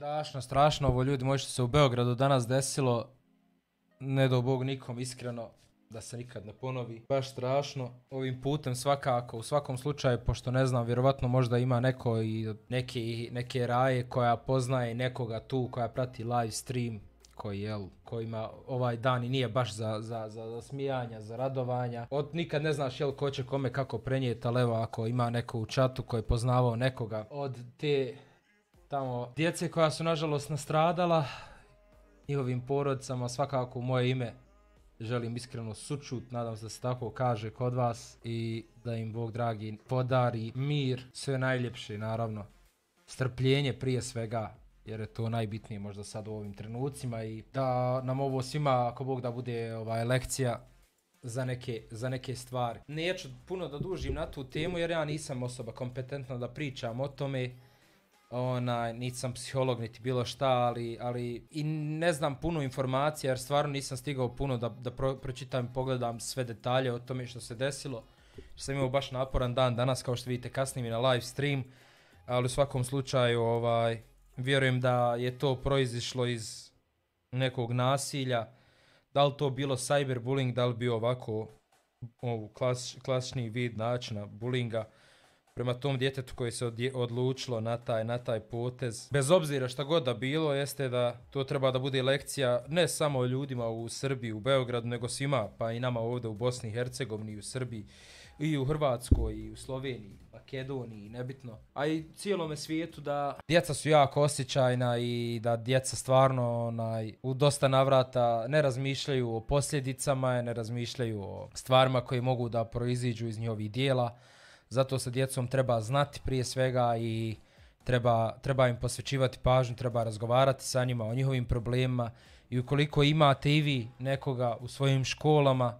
Strašno, strašno ovo ljudi moji što se u Beogradu danas desilo. Ne do Bog nikom iskreno da se nikad ne ponovi. Baš strašno. Ovim putem svakako, u svakom slučaju, pošto ne znam, vjerovatno možda ima neko i neke raje koja poznaje nekoga tu, koja prati live stream, koji ima ovaj dan i nije baš za smijanja, za radovanja. Nikad ne znaš ko će kome kako prenijeti, ali evo ako ima neko u čatu koji je poznavao nekoga od te tamo djece koja su nažalost nastradala, njihovim porodicama, svakako u moje ime želim iskreno sućut, nadam se da se tako kaže kod vas i da im Bog dragi podari mir, sve najljepše naravno, strpljenje prije svega, jer je to najbitnije možda sad u ovim trenucima i da nam ovo svima, ako Bog da bude lekcija za neke stvari. Neću puno da dužim na tu temu jer ja nisam osoba kompetentna da pričam o tome. Nisam psiholog niti bilo šta, ali i ne znam puno informacija jer stvarno nisam stigao puno da pročitam i pogledam sve detalje o tome što se desilo. Sam imao baš naporan dan danas, kao što vidite kasnije mi na live stream, ali u svakom slučaju vjerujem da je to proizišlo iz nekog nasilja. Da li to bilo cyberbullying, da li bio ovako klasični vid načina bullyinga prema tom djetetu koji se odlučilo na taj potez. Bez obzira šta god da bilo, jeste da to treba da bude lekcija ne samo ljudima u Srbiji, u Beogradu, nego svima, pa i nama ovdje u Bosni i Hercegovini, u Srbiji, i u Hrvatskoj, i u Sloveniji, Makedoniji, nebitno. A i cijelome svijetu da djeca su jako osjećajna i da djeca stvarno u dosta navrata ne razmišljaju o posljedicama, ne razmišljaju o stvarima koje mogu da proiziđu iz njihovih dijela. Zato sa djecom treba znati prije svega i treba im posvećivati pažnju, treba razgovarati sa njima o njihovim problemima i ukoliko imate i vi nekoga u svojim školama,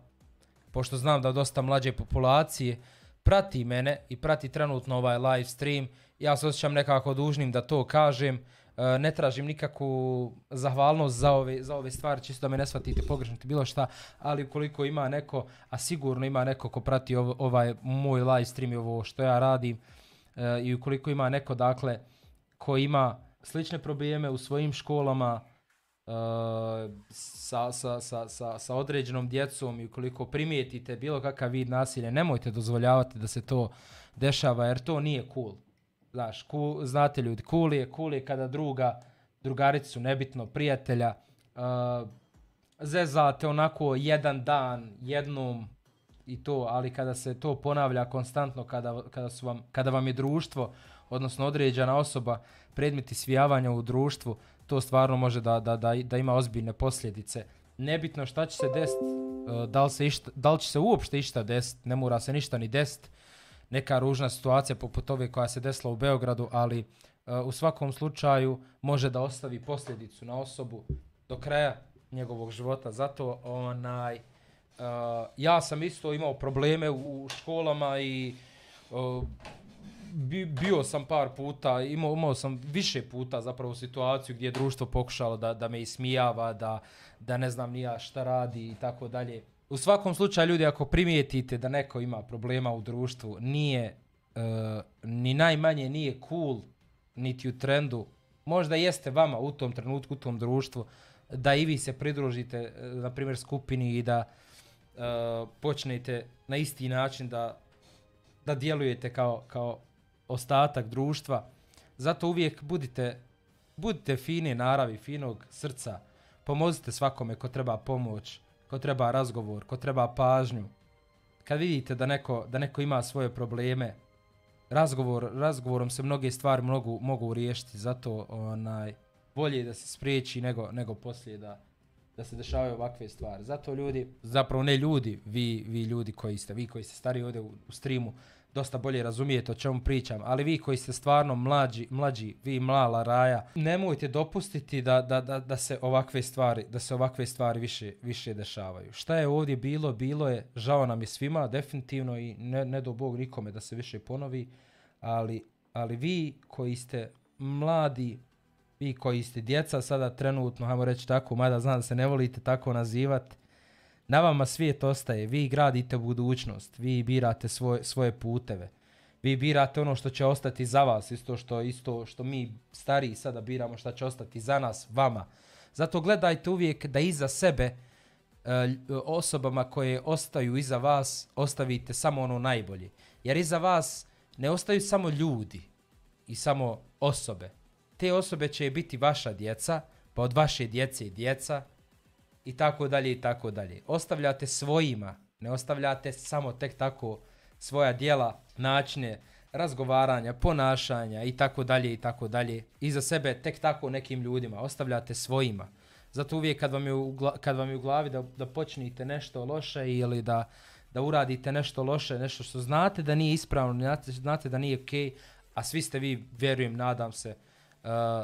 pošto znam da dosta mlađe populacije prati mene i prati trenutno ovaj live stream, ja se osjećam nekako dužnim da to kažem, ne tražim nikakvu zahvalnost za ove stvari, čisto da me ne shvatite pogrešno bilo šta, ali ukoliko ima neko, a sigurno ima neko ko prati ovaj moj live stream i ovo što ja radim, i ukoliko ima neko dakle ko ima slične probleme u svojim školama sa određenom djecom i ukoliko primijetite bilo kakav vid nasilja, nemojte dozvoljavati da se to dešava jer to nije cool. Znaš, znate ljudi, cool je kada drugaricu, nebitno, prijatelja, zezate onako jedan dan, jednom i to, ali kada se to ponavlja konstantno, kada vam je društvo, odnosno određena osoba, predmet ismijavanja u društvu, to stvarno može da ima ozbiljne posljedice. Nebitno šta će se desiti, da li će se uopšte išta desiti, ne mora se ništa ni desiti, neka ružna situacija poput ove koja se desila u Beogradu, ali u svakom slučaju može da ostavi posljedicu na osobu do kraja njegovog života. Zato ja sam isto imao probleme u školama i bio sam par puta, imao sam više puta zapravo situaciju gdje je društvo pokušalo da me ismijava, da ne znam ni ja šta radi i tako dalje. U svakom slučaju ljudi, ako primijetite da neko ima problema u društvu, nije ni najmanje nije cool niti u trendu, možda jeste vama u tom trenutku, u tom društvu, da i vi se pridružite na primjer skupini i da počnete na isti način da djelujete kao ostatak društva. Zato uvijek budite fine naravi, finog srca, pomozite svakome ko treba pomoć, ko treba razgovor, ko treba pažnju. Kad vidite da neko ima svoje probleme, razgovorom se mnoge stvari mogu riješiti. Zato bolje je da se spriječi nego poslije da se dešavaju ovakve stvari. Zato ljudi, zapravo ne ljudi, vi ljudi koji ste stari ovdje u streamu, dosta bolje razumijete o čemu pričam, ali vi koji ste stvarno mlađi, vi mlala raja, nemojte dopustiti da se ovakve stvari više dešavaju. Šta je ovdje bilo je, žao nam je svima, definitivno i ne do Bog nikome da se više ponovi, ali vi koji ste mladi, vi koji ste djeca sada trenutno, hajmo reći tako, mada znam da se ne volite tako nazivati, na vama svijet ostaje, vi gradite budućnost, vi birate svoje puteve. Vi birate ono što će ostati za vas, isto što mi stariji sada biramo šta će ostati za nas, vama. Zato gledajte uvijek da iza sebe osobama koje ostaju iza vas ostavite samo ono najbolje. Jer iza vas ne ostaju samo ljudi i samo osobe. Te osobe će biti vaša djeca, pa od vaše djece i djeca i tako dalje i tako dalje. Ostavljate svojima, ne ostavljate samo tek tako svoja djela, načine razgovaranja, ponašanja i tako dalje i tako dalje. Iza sebe tek tako nekim ljudima, ostavljate svojima. Zato uvijek kad vam je u glavi da počnite nešto loše ili da uradite nešto loše, nešto što znate da nije ispravno, znate da nije okej, a svi ste vi, vjerujem, nadam se,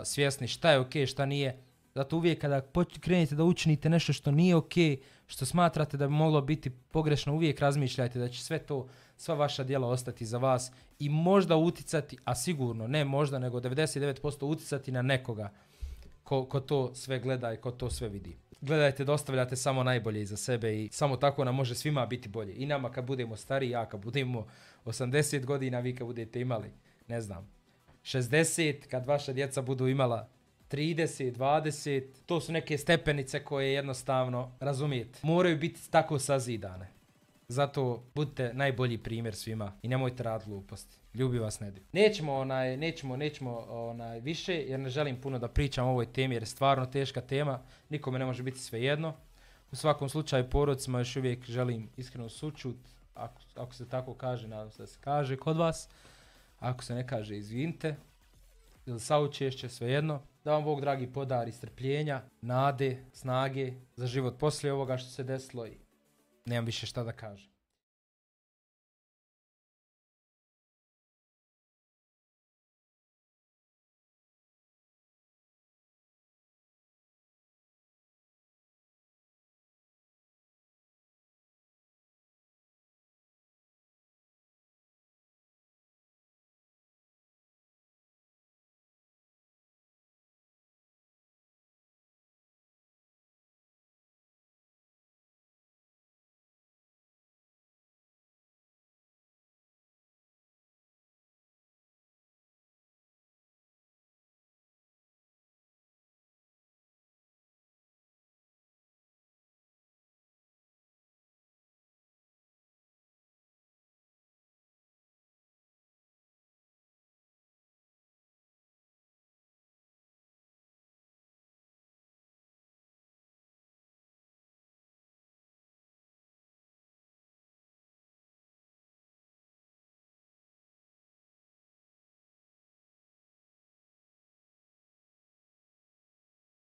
svjesni šta je okej, šta nije. Zato uvijek kada krenete da učinite nešto što nije okej, što smatrate da bi moglo biti pogrešno, uvijek razmišljajte da će sva vaša djela ostati za vas i možda uticati, a sigurno, ne možda, nego 99% uticati na nekoga ko to sve gleda i ko to sve vidi. Gledajte da ostavljate samo najbolje iza sebe i samo tako nam može svima biti bolje. I nama kad budemo stariji, ja kad budemo 80 godina, vi kad budete imali, ne znam, 60, kad vaša djeca budu imala 30, 20, to su neke stepenice koje jednostavno, razumijete, moraju biti tako sazidane. Zato budite najbolji primjer svima i nemojte raditi gluposti. Ljubi vas Nedio. Nećemo više jer ne želim puno da pričam o ovoj temi jer je stvarno teška tema. Nikome ne može biti svejedno. U svakom slučaju porodcima još uvijek želim iskreno sućut. Ako se tako kaže, nadam se da se kaže kod vas. Ako se ne kaže, izvinite. Ili saučešće, svejedno. Da vam Bog dragi podari strpljenja, nade, snage za život poslije ovoga što se desilo i nemam više šta da kažem.